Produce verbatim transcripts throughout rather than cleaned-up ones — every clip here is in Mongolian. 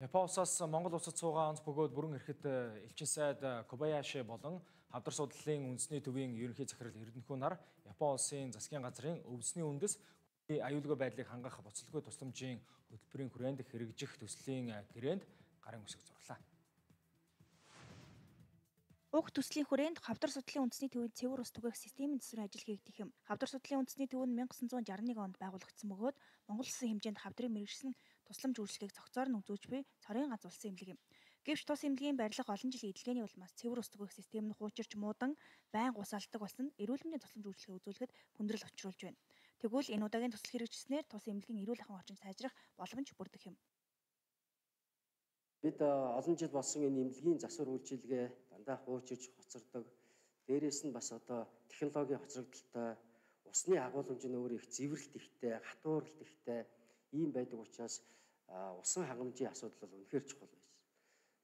Япон улсаас Монгол улсад суугаа онц бөгөөд бүрэн эрэхэд элчин сайд Кобаяши болон хавдар судлалын үндэсний төвийн ерөнхий захирал Эрдэнэхүү нар Япон улсын засгийн газрын өвсний үндэс аюулгүй байдлыг хангах буцалгүй тусламжийн хөтөлбөрийн хүрээнд хэрэгжих төслийн гэрээнд гарын үсэг зурлаа. Уг төслийн хүрээнд хавдар судлалын үндэсний төвийн цэвэр ус түгээх системийн засварын ажил хийгдэх юм. Хавдар судлалын үндэсний төв нь мянга санаа зуун жарганы нэг онд байгуулагдсан бөгөөд Монгол улсын хэмжээнд хавдрын мэргэшсэн тусламж үйлчлэгийг цогцоор нь үзүүлж буй цорын ганц улсын эмнэлэг юм. Гэвч тус эмнэлгийн барилга олон жилийн эдлгээний улмаас цэвэр ус түгээх систем нь хуучирч муудан байнга ус алддаг болсон эрүүл мэндийн тусламж үйлчлэгийг үзүүлэхэд хүндрэл учруулж байна. Тэгвэл энэ удаагийн тусал хэрэгжснээр тус эмнэлгийн эрүүл ахуйн орчинд сайжрах боломж бүрдэх юм. Бид олон жил болсон энэ эмнэлгийн засвар үйлчилгээ дандаа хуучирч хоцордог. Дээрээс нь бас одоо технологийн хоцрогдолтой, усны агуулмж нь өөр их зэврэлт ихтэй, хатууралт ихтэй ийм байдаг учраас усан хангамжийн асуудал бол үнэхээр чухал байсан.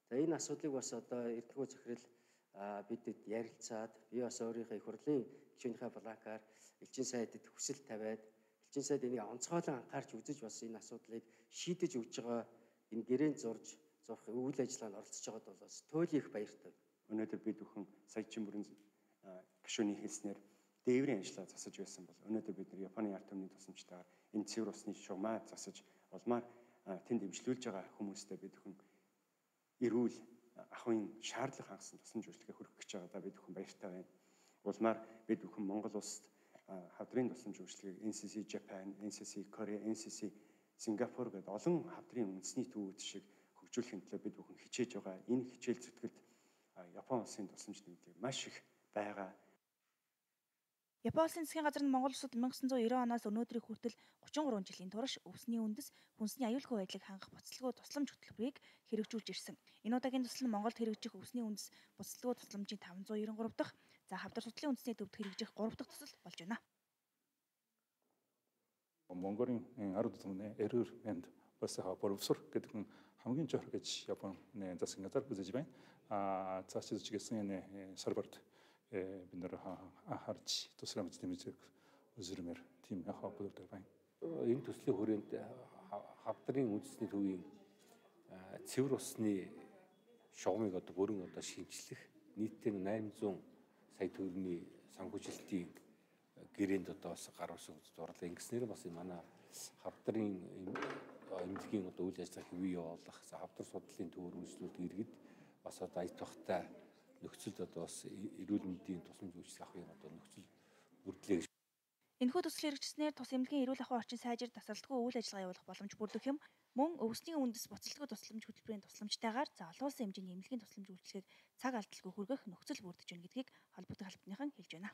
За энэ асуудлыг бас одоо Эрдэнэхүү захирал бидэд ярилцаад би бас өөрийнхөө их хурлын гишүүнийхээ бланкаар элчин сайдад хүсэл тавиад элчин сайд энийг онцгойлон анхаарч үзэж бас энэ асуудлыг шийдэж өгж байгаа энэ гэрээнд зурж зурх үйл ажиллагаанд оролцож байгаад бол бас туйлын их баяртай. Өнөөдөр бид бүхэн саячин бүрэн гишүүний хэлснээр дээврийн ажиллагаа засаж байсан бол өнөөдөр бид нар Японы ард түмний тусламжтайгаар энэ цэвэр усны шугамаа засаж улмаар тэнд эмчлүүлж байгаа хүмүүстээ бид бүхэн эрүүл ахуйн шаардлага хангасан тусламж үйлчлэгээ хүргэх гэж байгаадаа бид бүхэн баяртай байна. Улмаар бид бүхэн Монгол улсад хавдрын тусламж үйлчлэгийг эн си си Japan, эн си си Korea, эн си си Сингапур гэдэг олон хавдрын үндэсний төвүүд шиг хөгжүүлэхийн төлөө бид бүхэн хичээж байгаа. Энэ хичээл зүтгэлд Япон улсын тусламж нэмэлт маш их байгаа. Япон улсын засгийн газар нь Монгол улсад мянга санаа зуун девять оноос өнөөдрийг хүртэл гучин гурван жилийн турш өвсний үндэс хүнсний аюулгүй байдлыг хангах буцалгүй тусламж хөтөлбөрийг хэрэгжүүлж ирсэн. Энэ удаагийн төсөл нь Монголд хэрэгжих өвсний үндэс буцалгүй тусламжийн таван зуун девять гурав дахь, за хавдар судлалын үндэсний төвд хэрэгжих гурав дахь төсөл болж байна. Монголын ард түмний эрүүл мэнд бас боловсрол гэдэг нь хамгийн чухал гэж Японы засгийн газар үзэж байна. А цааш зүгсэн энэ серверт бид нэр анхаарч тусламж нэмэлт үзэрмээр тийм яхаа болдог байна. Энэ төслийн хүрээнд хавдрын үндэсний төвийн цэвэр усны шугамыг одоо бүрэн одоо шинжлэх нийтдээ восемь зуун сая төгрөгийн санхүүжилтийн гэрээнд одоо бас гар усыг зурлаа. Ингэснээр бас манай хавдрын эмнэлгийн одоо үйл ажиллагаа хэвээ явуулах, хавдар судлалын төвөөр үйлчлүүлдэг иргэд бас одоо ая тухтай нөхцөлд одоо бас эрүүл мэндийн тусламж үйлчлэх ахуйн одоо нөхцөл бүрдлээ. Энэхүү төсөл хэрэгжснээр тус эмнэлгийн эрүүл ахуйн орчин сайжир тасралтгүй үйл ажиллагаа явуулах боломж бүрдэх юм. Мөн өвсний үндэс буцалгүй тусламж хөтөлбөрийн тусламжтайгаар за олон улсын хэмжээний эмнэлгийн тусламж үйлчлэгийг цаг алдалгүй хүргэх нөхцөл бүрдэж байна гэдгийг холбогдох албаныхан хэлж байна.